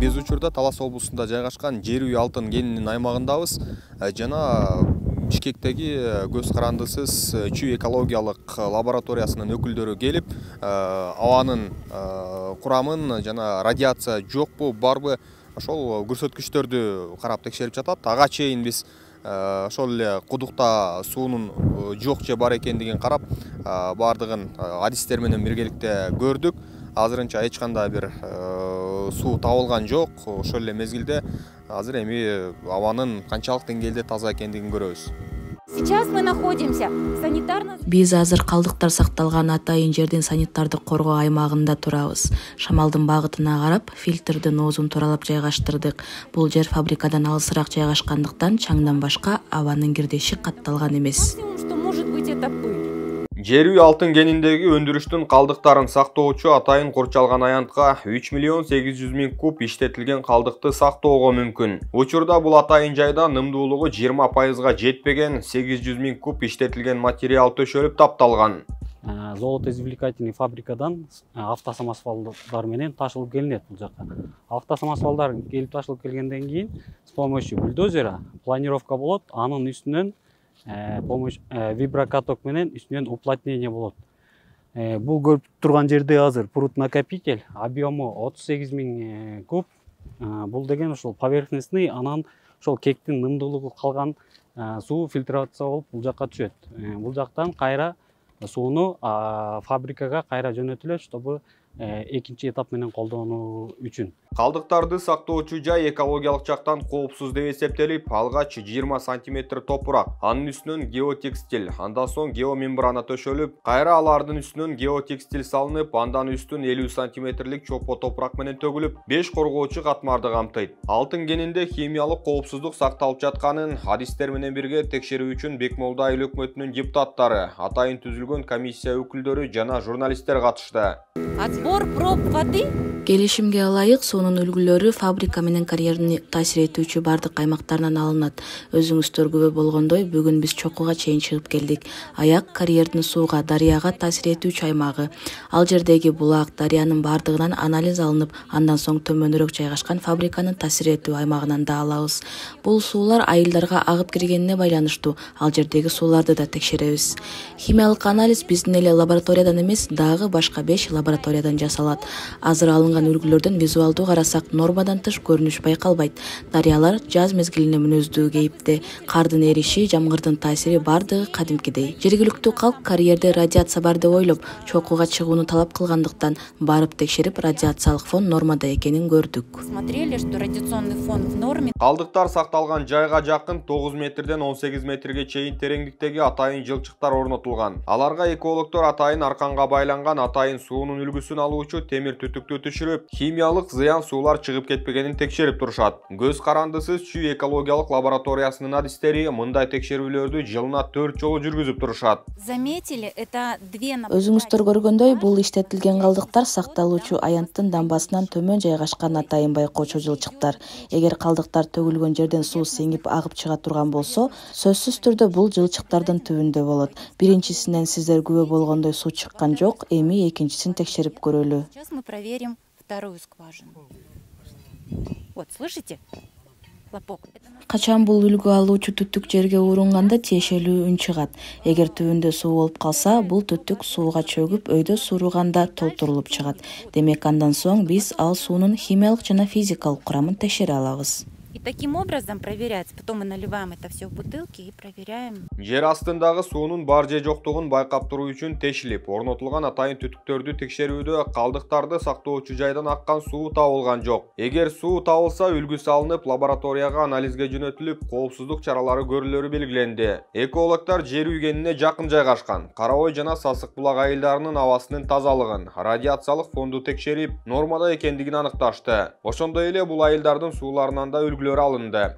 Кез учурда Талас облусунда жайгашкан жер үй алтын кенинин аймагындабыз. Жана Бишкектеги көз карандысыз чүй экологиялык лабораториясынын өкүлдөрү келип, абанын курамын жана радиация жокпу, барбы ошол көрсөткүчтөрдү карап текшерип жатат. Ага чейин биз ошол эле кудукта суунун жок же бар экендигин карап, бардыгын адистер менен биргеликте көрдүк. Азырынча эч кандай бир суу табылган жок. Ошол эле мезгилде азыр эми абанын канчалык деңгээлде таза экендигин көрөбүз. Сейчас мы находимся в санитарном... Биз азыр калдыктар сакталган атайын жердин санитардык коргоо аймагында турабыз. Шамалдын багытына карап, фильтрдин оозун туралап жайгаштырдык. Бул жер фабрикадан алысыраак жайгашкандыктан чаңдан башка абанын кирдеши катталган эмес. Что может быть это пыль? Жер үй алтын кениндеги өндүрүштүн калдыктарын сактоочу атайын курчалган аянтка 3 миллион 800 миң куб иштетилген калдыкты сактоого мүмкүн. Учурда бул атайын жайда нымдуулугу 20%га жетпеген 800 миң куб иштетилген материал төшөлүп тапталган. Золотоизвлекательный фабрикадан автосамосвалдар менен ташылып келинет бул жака. Автосамосвалдар келип ташылып келгенден кийин с помощью бульдозера планировка болот, анын үстүнөн виброкаток менен үстүнөн уплотнение болот. Бул көрүп турган жерде азыр пруд-накопитель объему 38 миң куб. Бул деген ошол поверхностный, анан ошол кектин нымдуулугу калган суу фильтрация болуп бул жакка түшөт. Бул жактан кайра сууну фабрикага кайра жөнөтүлөт, чтобы экинчи этап менен колдонуу үчүн. Калдыктарды сактоочу жай экологиялык жактан коопсуз деп эсептелип, алгач 20 сантиметр топурак, анын үстүнөн геотекстиль, андан соң геомембрана төшөлүп, кайра алардын үстүнөн геотекстиль салынып, андан үстүн 50 сантиметрлик чопо топурак менен төгүлүп, 5 коргоочу катмарды камтыйт. Алтын кенинде химиялык коопсуздук сакталып жатканын адистер менен бирге текшерүү үчүн Бекмолда айыл өкмөтүнүн депутаттары, атайын түзүлгөн комиссия өкүлдөрү жана журналисттер катышты. Отбор проб воды? Келишимге ылайык суунун үлгүлөрү фабрика менен карьерни таасир этүүчү бардык аймактардан алынат. Өзүңүздөр күбө болгондой, бүгүн биз чокуга чейин чыгып келдик. Аяк карьердин сууга, дарыяга таасир этүүчү аймагы. Ал жердеги булак, дарыянын бардыгынан анализ алынып, андан соң төмөнүрөөк жайгашкан фабриканын таасир этүү аймагынан да алабыз. Бул суулар айылдарга агып киргенине байланыштуу. Ал жердеги сууларды да текшеребиз. Химиялык анализ биздин эле лабораториядан эмес, дагы башка 5 лабораториядан жасалат. Азыр алынган үлгүлөрдөн визуалдуу карасак нормадан тыш көрүнүш байкалбайт. Дарыялар жаз мезгилине мүнөздүү кейипте. Кардын эриши, жамгырдын таасири бардыгы кадимкидей. Жергиликтүү калк карьерде радиация бар деп ойлоп, чокуга чыгууну талап кылгандыктан барып текшерип, радиациялык фон нормада экенин көрдүк. Смотрели, что радиационный фон в норме. Калдыктар сакталган жайга жакын 9 метрден 18 метрге чейин тереңдиктеги атайын жылчыктар орнотулган. Аларга экологдор атайын арканга байланган атайын суунун үлгүсүн алуучу темир түтүктү түшүрүп, химиялык зыян суулар чыгып кетпегенин текшерип турушат. Көз карандысыз чүй экологиялык лабораториясынын адистери мындай текшерүүлөрдү жылына 4 жолу жүргүзүп турушат. Заметили, это две... Өзүңүздөр көргөндөй, бул иштетилген калдыктар сакталуучу аянттын дамбасынан төмөн жайгашкан атайын байкоочу жылчыктар. Эгер калдыктар төгүлгөн жерден суу сеңип агып чыга турган болсо, сөзсүз түрдө бул жылчыктардын түбүндө болот. Биринчисинен сиздер күбө болгондой суу чыккан жок, эми экинчисин текшерип көрөлү. Сейчас мы проверим вторую скважину. Вот, слышите? Лопок. Качан бул үлгү алуучу түтүк жерге урунганда тиешелүү үн чыгат. Эгер түбүндө суу болуп калса, бул түтүк сууга чөгүп, өйдө сууруганда толтурулуп чыгат. Демек андан соң биз ал суунун химиялык жана физикалык курамын текшере алабыз. И таким образом проверяется. Потом мы наливаем это все в бутылки и проверяем. Жер астындагы суунун бар же жоктугун байкап туруу үчүн тешилип, орнотулган атайын түтүктөрдү текшерүүдө калдыктарды сактоочу жайдан аккан суу табылган жок. Эгер суу табылса, үлгү салынып, лабораторияга анализге жөнөтүлүп, коопсуздук чаралары көрүлөрү белгиленди. Экологдор жер үй кенине жакын жайгашкан Кара Ой жана Сасык булак айылдарынын абасынын тазалыгын, радиациялык фонду текшерип, нормада экендигин аныкташты. Ошондой эле бул айылдардын сууларынан да үлгүлөр алынды.